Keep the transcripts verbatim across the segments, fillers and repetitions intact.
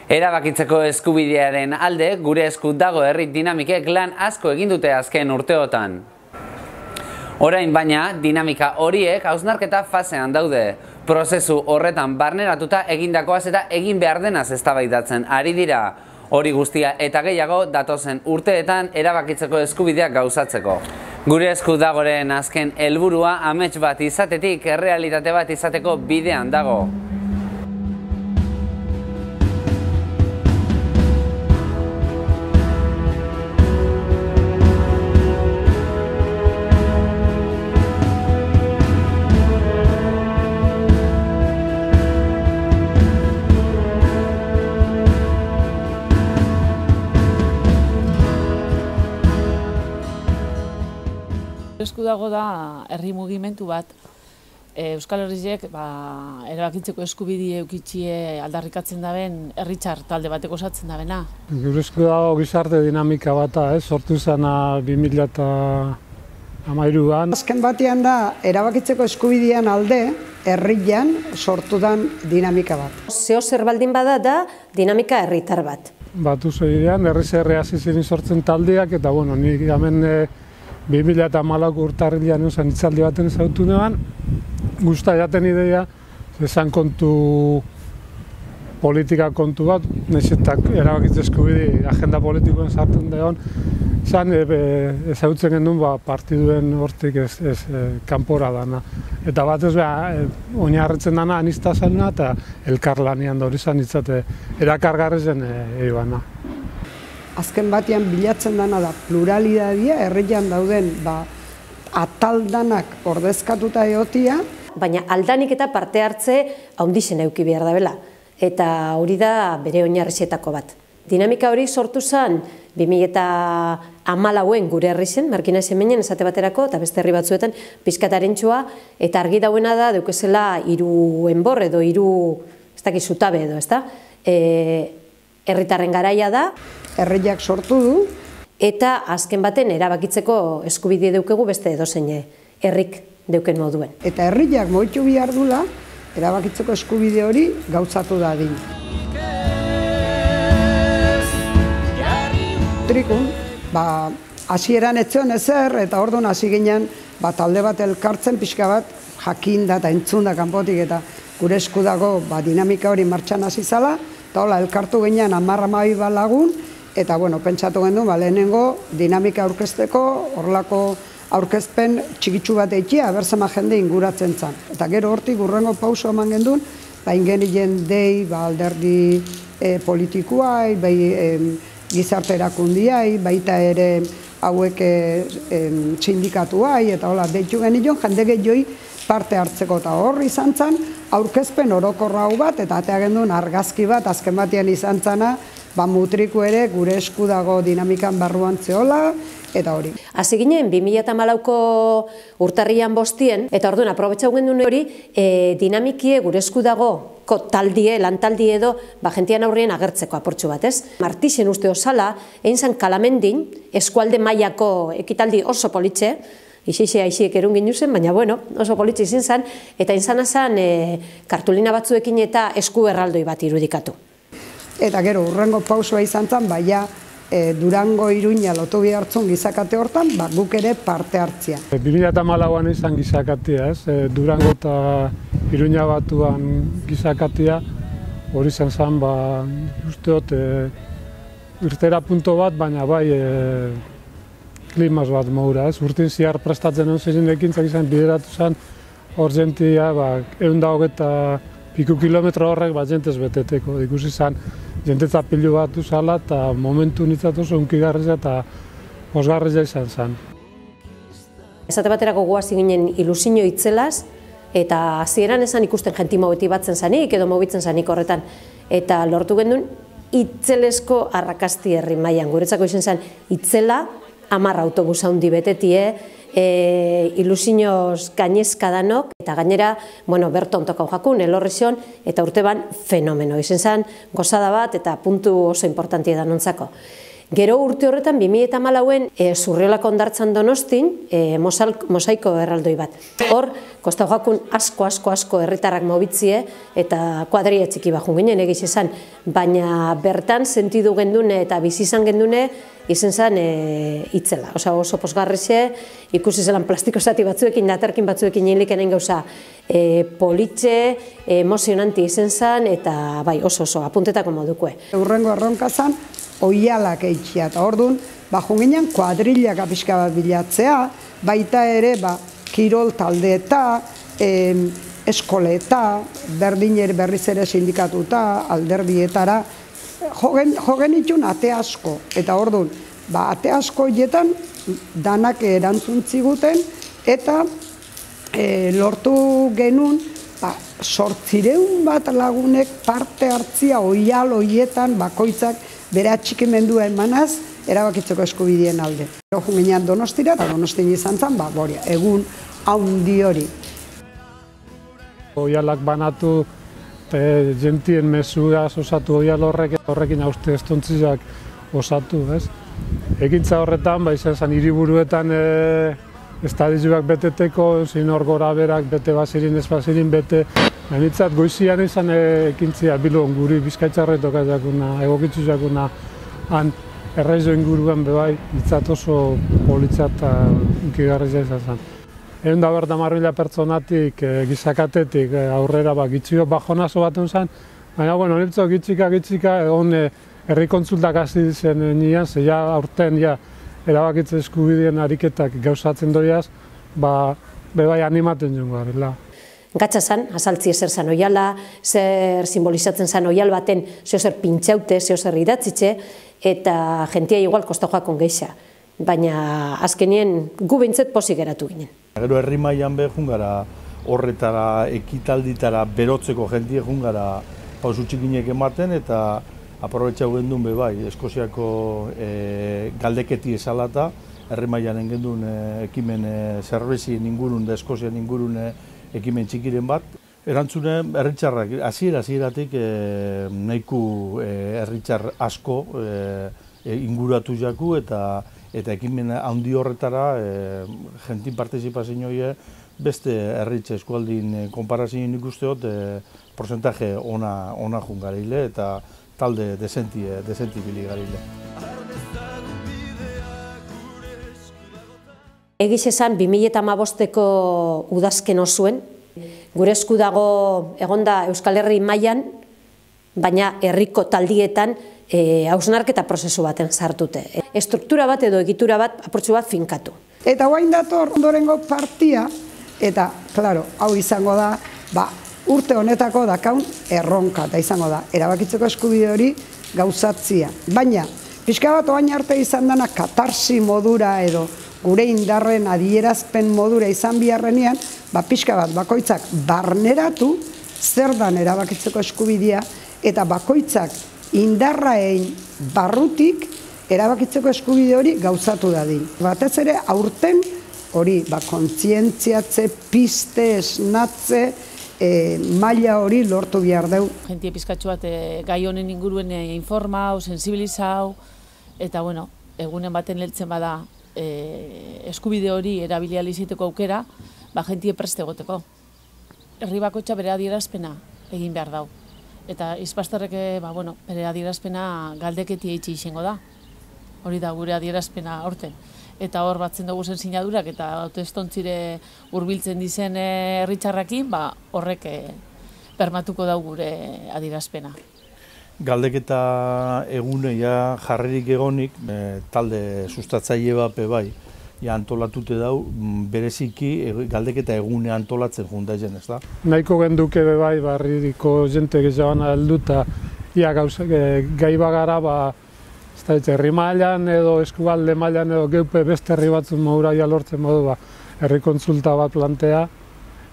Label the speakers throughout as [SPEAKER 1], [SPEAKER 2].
[SPEAKER 1] Erabakitzeko eskubidearen alde, gure esku dago herri dinamikek lan asko egin dute azken urteotan. Orain baina, dinamika horiek hausnarketa fasean daude. Prozesu horretan barneratuta egindakoaz eta egin behar denaz eztabaidatzen ari dira. Hori guztia eta gehiago datozen urteetan erabakitzeko eskubideak gauzatzeko. Gure esku dagoren azken helburua amets bat izatetik errealitate bat izateko bidean dago.
[SPEAKER 2] Esku dago da herri mugimendu bat. Euskal Herriek erabakitzeko eskubidea eukitzie aldarrikatzen daben herritxar talde bateko osatzen dabena.
[SPEAKER 3] Gure esku dago gizarte dinamika bata, sortu zena bi mila hamairuan.
[SPEAKER 4] Azken batean da erabakitzeko eskubidean alde herrian sortudan dinamika bat.
[SPEAKER 5] Zeo zer baldin bada da dinamika herritar bat.
[SPEAKER 3] Batu zeidean, herriz herri hasi ziren sortzen taldeak, eta bueno, nik hemen bi mila hamalauko urtarrilean eusen hitzaldi baten ezagutu neban, guzta jaten ideia, ezan kontu politika kontu bat, nahiz eta erabakitze eskubide agenda politikoen sartzen deon, zan ezagutzen genuen partiduen hortik ez kanpora dana. Eta batez beha, oinarritzen dana anistazena eta elkarlanian da hori zan itzate erakargarrezen eibana.
[SPEAKER 4] Azken batean bilatzen dana da pluralidadia, herrian dauden ataldanak ordezkatuta egotia.
[SPEAKER 5] Baina aldanik eta parte hartze haundixen euki behar da bela. Eta hori da bere oinarrizetako bat. Dinamika hori sortu zen bi mila hamalauen gure herri zen, Markina Semenen esate baterako, eta beste herri batzuetan pizkataren txua, eta argi dauena da deukezela hiru enbor edo hiru, ez dakiz zutabe edo, ez da? Herritarren garaia da.
[SPEAKER 4] Herriak sortu du.
[SPEAKER 5] Eta azken baten erabakitzeko eskubide deukegu beste edozein herrik deuken moduen.
[SPEAKER 4] Eta herriak moitu bihar dula, erabakitzeko eskubide hori gauzatu dadin. Trikun, hasieran etzion ezer, eta orduan hasi ginen talde bat elkartzen pixka bat jakinda eta entzunda kanpotik, eta gure esku dago dinamika hori martxan hasi zala, eta hola elkartu ginen hamar hamabi bat lagun, eta bueno, pentsatu gendu, lehenengo dinamika aurkezteko, horrelako aurkezpen txikitsu bat eikia, aberzema jende inguratzen zen. Eta gero hortik urrengo pauso eman gendun, bain genien dei, alderdi politikoai, gizarte erakundiai, baita ere hauek sindikatuai, eta hola, deitu genion, jende gehioi parte hartzeko, eta horri izan zen, aurkezpen orokorra hau bat, eta atea gendun argazki bat, azken batean izan zena, mutriku ere gure esku dago dinamikan barruan zehola, eta hori.
[SPEAKER 5] Hasi ginen, bi mila hamalauko urtarrian bostien, eta orduan, aprobetxau gendun hori, dinamikie gure esku dago taldie, lantaldie edo, jentian aurrien agertzeko aportxu bat, ez? Martixen uste osala, egin zen Kalamendin, eskualde mailako ekitaldi oso politxe, Ixixe aixiek erun ginu zen, baina bueno, oso politxe izin zen, eta izan zen kartulina batzuekin eta esku erraldoi bat irudikatu.
[SPEAKER 4] Eta gero, urrengo pausua izan zen, baina Durango Iruña lotu bihartzun gizakate hortan, guk ere parte hartzia.
[SPEAKER 3] bi mila hamalauan izan gizakatea, Durango eta Iruña batuan gizakatea, hori zen zen, usteot, irtera punto bat, baina bai klimaz bat maura, urtin ziar prestatzen hon zezen ekintzak izan bideratu zen, hor jentia, egun da hogeta piku kilometro horrek bat jentez beteteko, ikusi zen, jentetza pilu bat uzala eta momentu nintzatu oso unkigarreza eta osgarreza izan zen.
[SPEAKER 5] Esate baterako guazi ginen ilusinio itzelaz, eta hasieran esan ikusten jenti mobeti batzen zanik edo mobitzen zanik horretan. Eta lortu gendun itzelesko arrakasti herri mailan. Guretzako izan zen itzela, hamar autobus handi betetie, ilusioz gainezka danok, eta gainera, bueno, berton tokau jakun, elorrizion, eta urte ban fenomeno. Izen zen, gozada bat eta puntu oso importantia da nontzako. Gero urte horretan, bi mila hamalauen e, Zurriolako hondartzan Donostin, e, mosaiko erraldoi bat. Hor, Kostajoakun asko, asko, asko herritarrak mobitzie eta kuadria txiki bajun ginen egiz esan, baina bertan sentidu gendune eta bizi izan gendune izen zen e, itzela. Osa, oso posgarrixe, ikusi zelan plastiko zati batzuekin, daterkin batzuekin hilikenen gauza e, politxe, emozionanti izen zen, eta bai, oso oso, apuntetako modukue.
[SPEAKER 4] Urrengo erronka zen, oialak eitxia, eta orduan, bajun ginen kuadrilak pixka bat bilatzea, baita ere, ba, kirol taldeeta, eh, eskoleta, berdiner berriz ere sindikatuta, alderdietara, jogen, jogen itxun ate asko, eta orduan, ba, ate asko hietan danak erantzun ziguten, eta e, lortu genuen, ba, sortzireun bat lagunek parte hartzia oial hoietan bakoitzak bere atxikimendua emanaz, erabakitzeko eskubideen alde. Jogun ginean Donostira, eta Donostin izan zen, ba, boria, egun haundi hori.
[SPEAKER 3] Oialak banatu, e, jentien mesugaz osatu oial horrek, horrekin hauste estontziak osatu, ez? Ekintza horretan, ba, izan zen, hiriburuetan e, estadizuak beteteko, zin hor gora berak, bete bazirin, ez bazirin, bete. Benitzat, goizian izan e, ekintzia bilon guri bizkaitzarretok jakuna, egokitzu jakuna, han erraizo inguruan bebai, itzat oso politzat eta unkigarrizia izan zen. Egun da berda marrila pertsonatik, e, gizakatetik, e, aurrera ba, gitzio bajonazo baten zen, baina, bueno, nirtzo gitzika, gitzika, egon e, herri kontsultak hasi zen nian, ze ja aurten ja erabakitze eskubideen ariketak gauzatzen doiaz, ba, bebai animaten joan garela.
[SPEAKER 5] Gatsa zan, azaltzi ezer zan oiala, zer simbolizatzen zan oial baten, zeo zer pintxaute, zeo zer idatzitxe, eta jentia igual Kostajoakon geixa. Baina azkenien gu behintzet pozik geratu ginen.
[SPEAKER 6] Gero herri mailan be jungara horretara, ekitalditara, berotzeko jentie jungara pausu txikinek ematen, eta aprobetxau gendun be bai, Eskoziako e, galdeketi esalata, herri mailan gendun e, ekimen e, zerbezien ingurun, da Eskozian ingurun e, ekimen txikiren bat. Erantzune, herritxarrak, hasiera hasieratik e, nahiku e, herritxar asko e, e, inguratu jaku eta eta ekimen handi horretara e, jentin partizipazioa beste herritxe eskualdin e, konparazioen ikusteot e, porcentaje ona, ona jungarile eta talde desenti, desenti biligarile.
[SPEAKER 5] Egiz esan, bi mila hamabosteko udazken osuen, gure esku dago egonda Euskal Herri mailan, baina herriko taldietan e, hausnarketa prozesu baten sartute. Estruktura bat edo egitura bat apurtxu bat finkatu.
[SPEAKER 4] Eta guain dator ondorengo partia, eta, klaro, hau izango da, ba, urte honetako dakaun erronka, eta izango da, erabakitzeko eskubide hori gauzatzia. Baina, pixka bat oain arte izan dena katarsi modura edo gure indarren adierazpen modura izan biharrenean, ba, pixka bat bakoitzak barneratu zer dan erabakitzeko eskubidea eta bakoitzak indarraein barrutik erabakitzeko eskubide hori gauzatu dadin. Batez ere aurten hori ba, kontzientziatze, piste, esnatze, e, maila hori lortu behar deu.
[SPEAKER 2] Jentie pizkatxo bat e, gai honen inguruen e, informau, sensibilizau, eta bueno, egunen baten leltzen bada e, eskubide hori erabilia izateko aukera, ba, jentie preste egoteko. Herri bakoitza bere adierazpena egin behar dau. Eta izpastarrek ba, bueno, bere adierazpena galdeketi eitzi izango da. Hori da gure adierazpena horten. Eta hor batzen dugu zen sinadurak eta autoestontzire hurbiltzen dizen herritxarrakin, ba, horrek e, bermatuko dau gure adierazpena.
[SPEAKER 6] Galdeketa eguneia jarririk egonik, e, talde sustatzaile bat bai, ja antolatute dau, bereziki galdeketa egune antolatzen jundatzen, ez da?
[SPEAKER 3] Nahiko genduke bai, barririko jente gehiagoan helduta, ia gauza, gai bagara, ba, ez da, herri mailan edo eskualde mailan edo geupe beste herri batzun mauraia lortzen modu, ba, herri kontsulta bat plantea,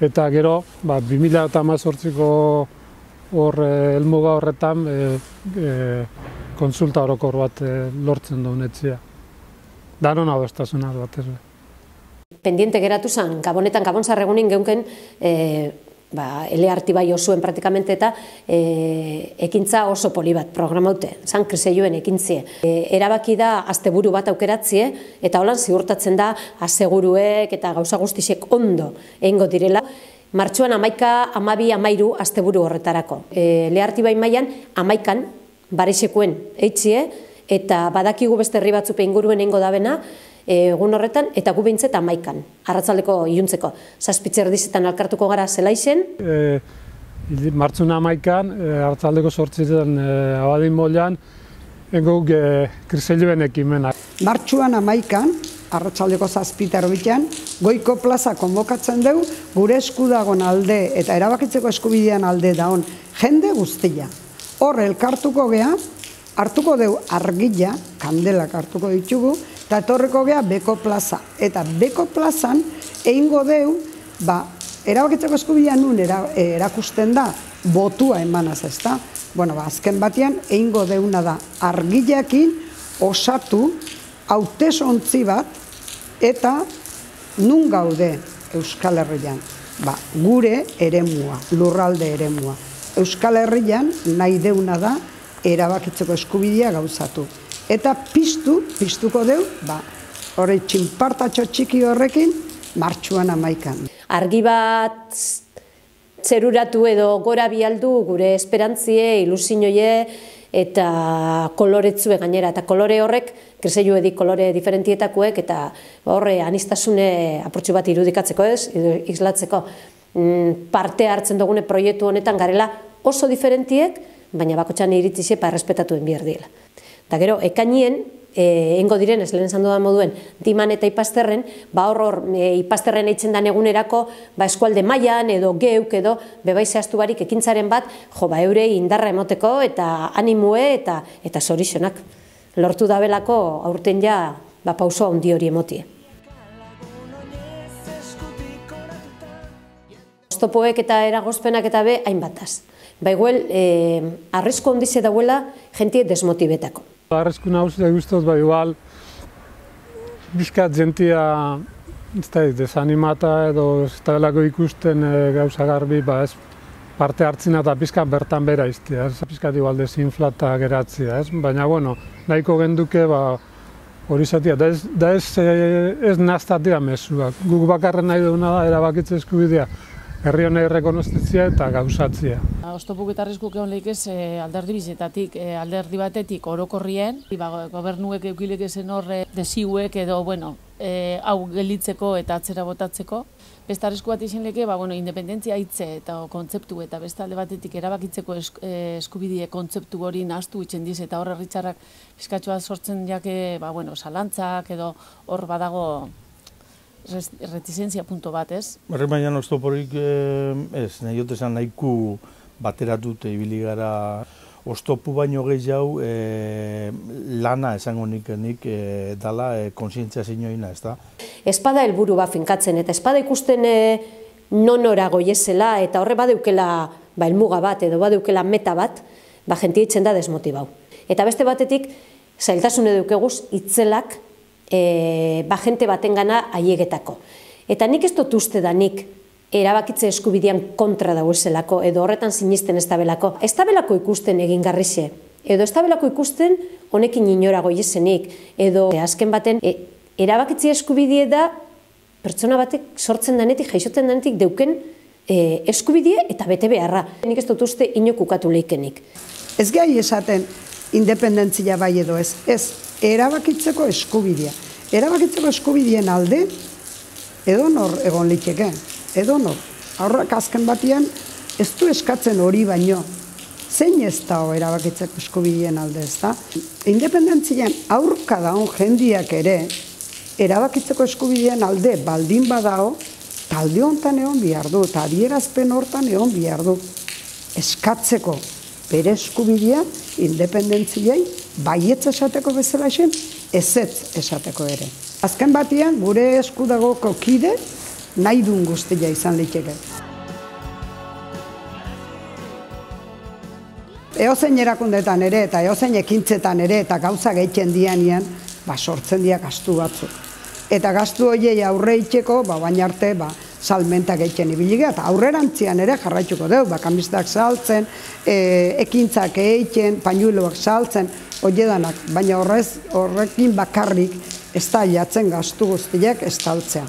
[SPEAKER 3] eta gero, ba, bi mila hemezortziko hor helmuga horretan e, e, kontsulta orokor bat e, lortzen duen etzia. Danon adostasuna batez.
[SPEAKER 5] Pendiente geratu zen, Gabonetan, Gabon zarregunin geunken, e, ba, Elearti bai osuen praktikamente eta e, ekintza oso poli bat programaute, zan kriseioen ekintzie. E, erabaki da asteburu bat aukeratzie eta holan ziurtatzen da aseguruek eta gauza guztisek ondo egingo direla. Martxuan amaika, amabi, amairu asteburu horretarako. E, Elearti bai mailan amaikan barisekuen eitzie eta badakigu beste herri batzupe inguruen egingo dabena, egun horretan, eta gu behintzet amaikan, arratzaldeko iluntzeko. Zazpitzer dizetan alkartuko gara zelaizen.
[SPEAKER 3] E, Martxun amaikan, e, arratzaldeko sortzitzen e, abadin molean, engok e, kriseiluen ekimenak.
[SPEAKER 4] Martxuan amaikan, arratzaldeko zazpiter bitan, goiko plaza konbokatzen dugu, gure eskudagon alde eta erabakitzeko eskubidean alde daun jende guztia. Hor elkartuko gea, hartuko dugu argila, kandelak hartuko ditugu, eta etorriko gea Beko plaza. Eta Beko plazan egingo deu, ba, erabakitzeko eskubidean nun erakusten da, botua emanaz ez da. Bueno, ba, azken batean egingo deuna da argilakin osatu hautesontzi bat eta nun gaude Euskal Herrian. Ba, gure eremua, lurralde eremua. Euskal Herrian nahi deuna da erabakitzeko eskubidea gauzatu. Eta piztu, piztuko deu, ba, hori txinpartatxo txiki horrekin, martxuan amaikan.
[SPEAKER 5] Argi bat zeruratu edo gora bialdu gure esperantzie, ilusioie eta koloretzue gainera. Eta kolore horrek, kriseilu edik kolore diferentietakuek, eta horre anistasune apurtxu bat irudikatzeko ez, islatzeko parte hartzen dugune proiektu honetan garela oso diferentiek, baina bakotxan iritzize pa errespetatuen behar dira. Eta gero, ekainien, egingo diren, ez lehen esan dudan moduen, Diman eta Ipazterren, ba hor hor Ipazterren eitzen dan egunerako, ba eskualde mailan edo geuk edo bebai zehaztu barik ekintzaren bat, jo ba eurei indarra emoteko eta animue eta eta zorixonak. Lortu dabelako aurten ja ba pauso handi hori emotie. Oztopoek eta eragozpenak eta be hainbataz. Ba igual, eh, arrizko ondize dauela jentie desmotibetako.
[SPEAKER 3] Arrizko nahuzi guztot, ba igual, bizkat jentia ez da, desanimata edo ez da belako ikusten e, gauza garbi, ba ez parte hartzina eta bizkat bertan bera iztia, ez bizkat igual desinflata geratzia, ez? Baina, bueno, nahiko genduke, ba, hori zatia, da ez, da ez, ez naztatia mesuak. Guk bakarren nahi duguna da, erabakitze eskubidea. Herri honei rekonostitzia eta gauzatzia.
[SPEAKER 2] Oztopuk eta arriskuk egon lehik ez alderdi bizetatik, alderdi batetik orokorrien, gobernuek eukilek ezen horre desiuek edo, bueno, hau gelditzeko eta atzera botatzeko. Beste arrisku bat izin leke, ba, bueno, independentzia hitze eta kontzeptu eta beste alde batetik erabakitzeko eskubidie kontzeptu hori nahaztu itzen diz eta horre ritxarrak pizkatxoa sortzen jake, ba, bueno, zalantzak edo hor badago retizentzia punto bat, ez?
[SPEAKER 6] Horrek baina oztoporik ez, nahi jotesan nahiku bateratute ibili gara oztopu baino gehiago lana esango nik dala konsientzia zinoina, ez da?
[SPEAKER 5] Espada helburu bat finkatzen eta espada ikusten nonora goiezela eta horre badeukela helmuga bat edo badeukela meta bat, ba jentia itzen da desmotibau. Eta beste batetik, zailtasune dukeguz itzelak E, ba jente baten gana aiegetako. Eta nik ez dut uste da nik erabakitze eskubidean kontra dauzelako edo horretan sinisten ez tabelako. Ez tabelako ikusten egin garrixe, edo ez tabelako ikusten honekin inora goiezenik, edo e, azken baten e, erabakitze eskubidea da pertsona batek sortzen danetik, jaixotzen danetik deuken e, eskubidea eta bete beharra. Nik ez dut uste inokukatu leikenik.
[SPEAKER 4] Ez gai esaten independentzia bai edo ez, ez. Erabakitzeko eskubidea. Erabakitzeko eskubideen alde, edonor egon liteke, edonor. Aurrak azken batean, ez du eskatzen hori baino. Zein ez da erabakitzeko eskubideen alde, ez da? Independentzian aurka daun jendiak ere, erabakitzeko eskubideen alde baldin badao, talde honetan egon behar du, eta adierazpen hortan egon behar du. Eskatzeko bere eskubidea, independentziai, baietz esateko bezala esen, ezetz esateko ere. Azken batean, gure eskudagoko kide, nahi duen guztia izan liteke. Eozein erakundetan ere, eta eozein ekintzetan ere, eta gauza gehiten dianean, ba, sortzen dira gastu batzuk. Eta gastu horiei aurre itxeko, ba, baina arte, ba, salmentak egiten ibiligea, eta aurrerantzian ere jarraituko dugu, bakamistak saltzen, e, ekintzak egiten, painuloak saltzen, oiedanak, baina horrez, horrekin bakarrik ez da jatzen gastu guztiak ez taltzea.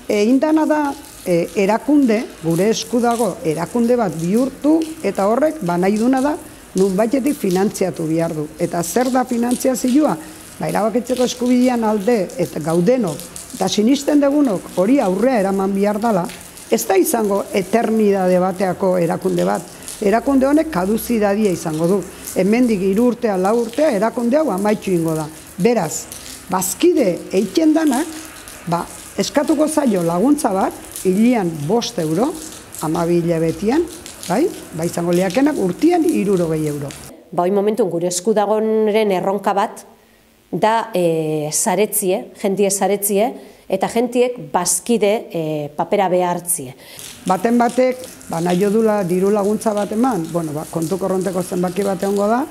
[SPEAKER 4] Egin dana da, e, erakunde, gure esku dago, erakunde bat bihurtu, eta horrek, ba nahi duna da, nun baitetik finantziatu behar du. Eta zer da finantziazioa? Ba, erabakitzeko eskubidean alde, eta gaudenok, eta sinisten dugunok hori aurrea eraman behar dela, ez da izango eternidade bateako erakunde bat. Erakunde honek kaduzidadia izango du. Hemendik hiru urtea, lau urtea, erakunde hau amaitxu ingo da. Beraz, bazkide eiken danak, ba, eskatuko zaio laguntza bat, hilian bost euro, hamabi hilabetian, bai, ba izango liakenak urtian hirurogei euro.
[SPEAKER 5] Ba, hoi momentun gure esku dagoen erronka bat, da e, zaretzie, jentie zaretzie, eta jentiek bazkide e, papera behartzie.
[SPEAKER 4] Baten batek, ba, nahi dula diru laguntza bat eman, bueno, ba, kontu korronteko zenbaki bat egongo da,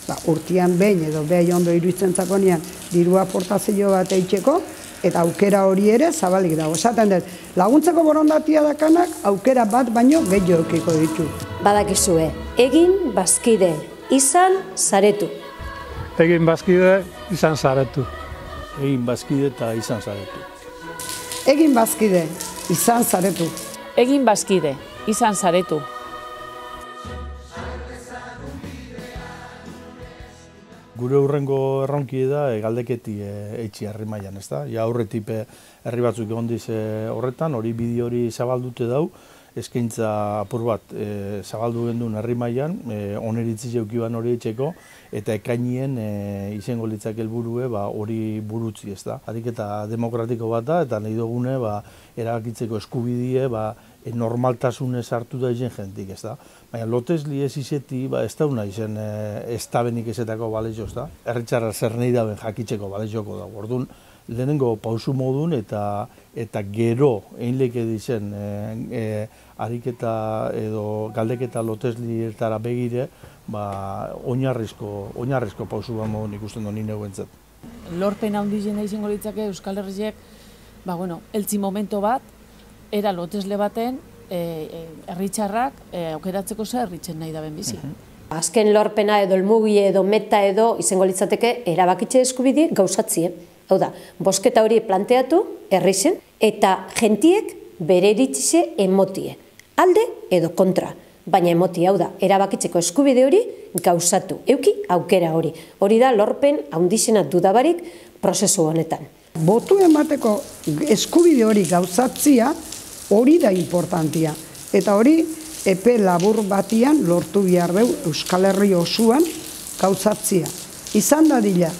[SPEAKER 4] ba, urtian behin edo behi ondo iruditzen zakonean diru aportazio bat eitzeko, eta aukera hori ere zabalik dago. Esaten dut, laguntzeko borondatia dakanak aukera bat baino gehiago eukiko ditu.
[SPEAKER 5] Badakizue, egin bazkide, izan zaretu.
[SPEAKER 3] Egin bazkide, izan zaretu.
[SPEAKER 6] Egin bazkide eta izan zaretu.
[SPEAKER 4] Egin bazkide, izan zaretu.
[SPEAKER 2] Egin bazkide, izan zaretu.
[SPEAKER 6] Gure hurrengo erronki da galdeketi eitzi herri mailan, ezta? Ja aurretik herri batzuk egon diz horretan, hori bideo hori zabaldute dau, eskaintza apur bat e, zabaldu gendun herri mailan, e, oneritzi jeukiban hori etxeko, eta ekainien e, izango litzak helburue ba, hori burutzi, ez da. Ariketa demokratiko bat da, eta nahi dugune ba, erabakitzeko eskubidie ba, e, normaltasunez hartu da izen jentik, ez da. Baina lotesli ez izeti, ba, ez dauna izen e, ez da benik ezetako balezio, ez da. Erritxarra zer nahi daben jakitzeko balezioko da. Orduan, lehenengo pausu modun eta eta gero einleke dizen e, e, ariketa edo galdeketa loteslietara begire, ba, oinarrizko, oinarrizko pausu bat modun ikusten dut nire guentzat.
[SPEAKER 2] Lorpen handiena izango litzake Euskal Herriek, ba, bueno, eltzi momento bat, era lotesle baten, herritxarrak e, e, aukeratzeko zer herritzen nahi daben bizi.
[SPEAKER 5] Azken lorpena edo elmugi edo meta edo izango litzateke erabakitze eskubide gauzatzie. Hau da, bosketa hori planteatu, herrixen, eta jentiek bere iritzize emotie. Alde edo kontra, baina emotie, hau da, erabakitzeko eskubide hori gauzatu. Euki aukera hori. Hori da lorpen handizena dudabarik prozesu honetan.
[SPEAKER 4] Botu emateko eskubide hori gauzatzia hori da importantia. Eta hori epe labur batian lortu behar dugu Euskal Herri osuan gauzatzia. Izan dadila,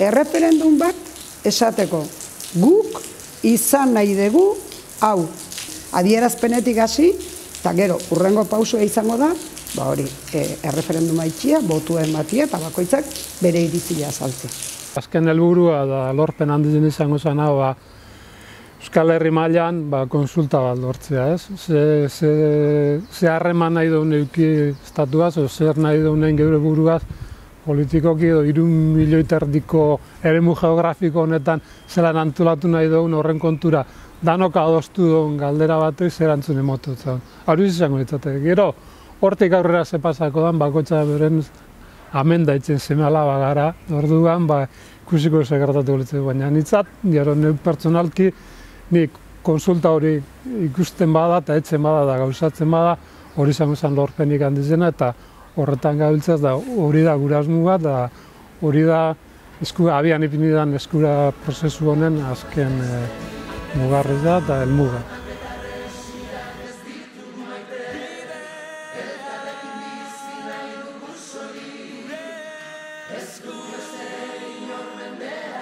[SPEAKER 4] erreferendum bat esateko, guk izan nahi dugu hau. Adierazpenetik hasi, eta gero, urrengo pausua izango da, ba hori, e, erreferenduma itxia, botu ematia, eta bakoitzak bere iritzia azaltzea.
[SPEAKER 3] Azken helburua da lorpen handizen izango zen hau, ba, Euskal Herri mailan ba, konsulta bat lortzea, ez? Ze, ze, ze harreman nahi duen euki estatuaz, o zer nahi duen geure buruaz, politikoki edo hiru milioi terdiko eremu geografiko honetan zelan antolatu nahi duen horren kontura danok adostu duen galdera batez erantzun emotu zen. Hori izango ditzatek. Gero, hortik aurrera ze pasako dan, bakoitza beren amenda itzen seme alaba gara, orduan, ba, ikusiko segertatu galitzeko, baina nitzat, gero nire pertsonalki, nik konsulta hori ikusten bada eta etzen bada da gauzatzen bada, hori izango zen lorpenik handizena, eta horretan gabiltzaz da hori da gure asmoa, da hori da eskura, abian ipinidan eskura prozesu honen azken e, mugarri da eta helmuga.
[SPEAKER 7] Esku beste inor mendea